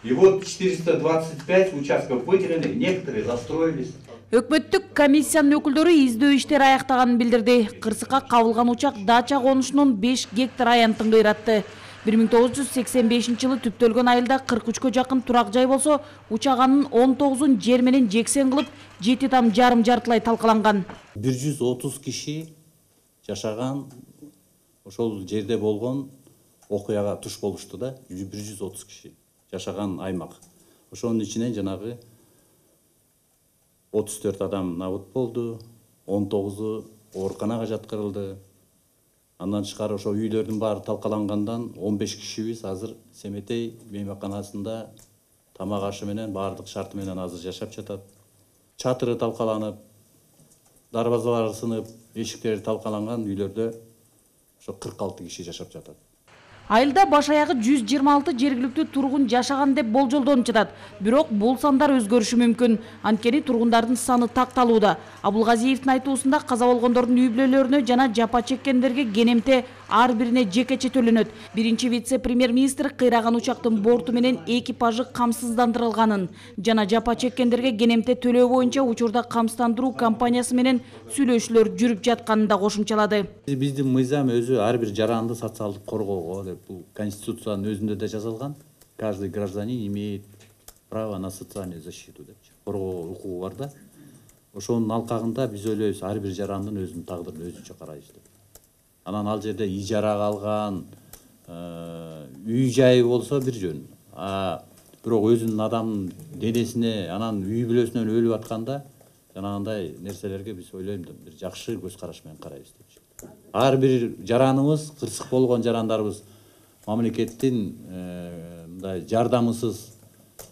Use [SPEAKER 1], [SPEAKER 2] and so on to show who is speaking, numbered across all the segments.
[SPEAKER 1] И вот 425 участков выделены, некоторые застроились.
[SPEAKER 2] Өкмөттүк комиссиянын өкүлдөрү издөө иштери аяктаганын билдирди. Кырсыкка кабылган учак дача конушунун 5 гектар аянтын кыйратты. 1985 жылы түптөлгөн айылда 43кө жакын турак жай болсо, учак анын 19-ун жер менен жексен кылып, 7 там жарым жартылай талкаланган.
[SPEAKER 3] 130 киши жашаган ошол жерде болгон окуяга туш болушту да, 130 киши жашаган аймак. Ошонун ичинен жанагы 34 адам набыт болду, 19-у ооруканага жаткырылды. Андан тышкары ошо үйлөрдүн баары талкалангандан 15 кишибиз азыр Семетей мейманканасында тамак ашы менен баардык шарты менен азыр жашап жатат. Чатыры талкаланып, дарбазалары сынып, эшиктери талкаланган үйлөрдө ошо 46 киши жашап жатат.
[SPEAKER 2] Айылда баш аягы 126 жергиликтүү тургун жашаган деп болжолдонуп жатат. Бирок бул сандар өзгөрүшү мүмкүн. Анткени тургундардын саны такталууда. Абулгазиевдин айтуусунда каза болгондордун үй бүлөлөрүнө жана жапа чеккендерге кенемте ар бирине жекече төлөнөт. Биринчи вице-премьер-министр кыйраган учактын борту менен экипажы камсыздандырылганын жана жапа чеккендерге кенемте төлөө боюнча учурда камсыздандыруу компаниясы менен сүйлөшүүлөр жүрүп жатканын да кошумчалады.
[SPEAKER 3] Биздин мыйзам өзү ар бир жаранды социалдык коргоого деп бул Конституциянын өзүндө да жазылган. Каждый гражданин имеет право на социальную защиту деп коргоо укугу бар да. Ошонун алкагында биз ойлойбуз ар бир жарандын өзүнүн тагдырын өзүнчө карайбыз деп. Анан ал жерде ижарага алган үй жайы болсо бир жөн. Бирок өзүнүн адамдын денесине, анан үй бүлөсүнөн өлүп атканда жанагындай нерселерге биз ойлойм бир жакшы көз караш менен карайбыз деп. Ар бир жараныбыз, кырсык болгон жарандарыбыз мамлекеттин мындай жардамысыз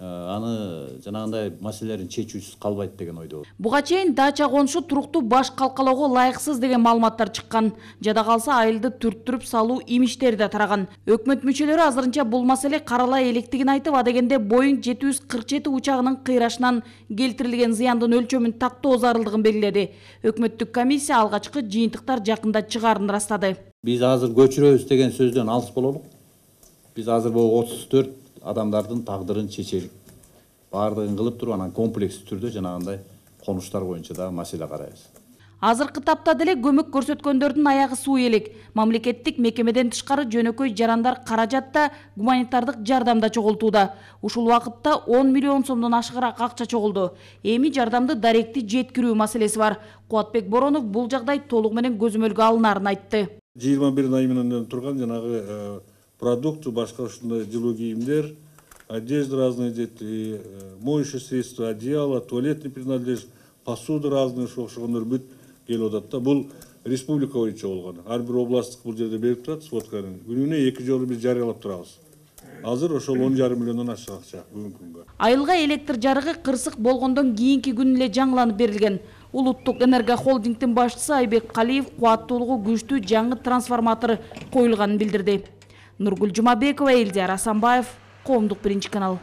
[SPEAKER 3] аны жанагындай маселелерин чечүүсүз калбайт деген ойдо.
[SPEAKER 2] Буга чейин дача конушу туруктуу баш калкалоого ылайыксыз деген маалыматтар чыккан. Жада калса айылды түрттүрүп салуу имиштери да тараган. Өкмөт мүчөлөрү азырынча бул маселе каралай электигин айтып, адегенде Boeing 747 учагынын кыйрашынан келтирилген зыяндын өлчөмүн тактоо зарылдыгын белгиледи. Өкмөттүк комиссия алгачкы жыйынтыктар жакында чыгаарын ырастады.
[SPEAKER 3] Биз азыр көчүрөбүз деген сөздөн алыс бололук. Биз азыр бул 34 адамдардын тагдырын чечелик. Баардыгын кылып туруп, анан комплекстүү түрдө жанагындай конуштар боюнча да маселе карайбыз.
[SPEAKER 2] Азыркы тапта деле көмөк көрсөткөндөрдүн аягы суу элек. Мамлекеттик мекемеден тышкары жөнөкөй жарандар каражатта гуманитардык жардамда чогултууда. Ушул убакытта 10 миллион сомдон ашыгыраак акча чогулду. Эми жардамды даректи жеткирүү маселеси бар. Кубатбек Боронов бул жагдай толугу менен көзөмөлгө алынаарын айтты.
[SPEAKER 4] 21 ай менен турган жанагы продукты, башка ушундай жылуу кийимдер, одежда разные дети, моющие средства, одеяло, туалетный принадлежность, посуда разные окшогондор бүт келип атат да. Бул республика боюнча болгон. Ар бир областтык бул жерде берип турат сводканы. Күнүнө 2 жолу биз жарыялап турабыз. Азыр ошол 10,5 миллиондон ашык акча бүгүнкү күнгө.
[SPEAKER 2] Айылга электр жарыгы кырсык болгондон кийинки күнү эле жаңыланып берилген. Улуттук энерго холдингдин башчысы Айбек Калиев кубаттуулугу күчтүү жаңы трансформатор коюлганын билдирди. Нургүл Жумабекова, Элдияр Асанбаев, Коомдук биринчи канал.